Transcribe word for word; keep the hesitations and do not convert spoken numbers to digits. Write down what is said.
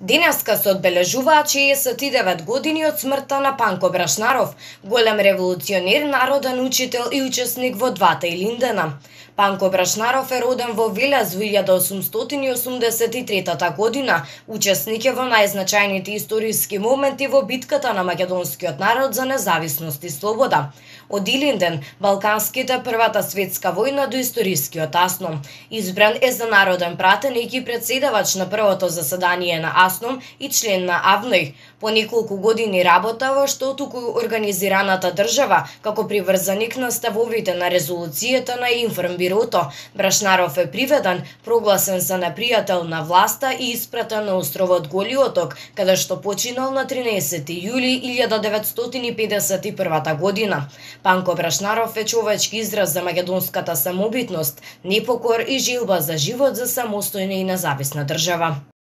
Денеска се одбележуваат шеесет и девет години од смртта на Панко Брашнаров, голем револуционер, народен учител и учесник во двата Илиндена. Панко Брашнаров е роден во Велес во илјада осумстотини и осумдесет и трета година, учесник е во најзначајните историски моменти во битката на македонскиот народ за независност и слобода. Од Илинден, Балканските, Првата светска војна до историскиот АСНОМ. Избран е за народен пратеник и председавач на првото заседание на АСНОМ и член на АВНОЙ. По неколку години работа во што туку организираната држава, како приврзаник на ставовите на резолуцијата на Информбирото, Брашнаров е приведен, прогласен за непријател на власта и испратен на островот Голи Оток, каде што починал на тринаесети јули илјада деветстотини и педесет и прва година. Панко Брашнаров е човечки израз за македонската самобитност, непокор и желба за живот за самостојна и независна држава.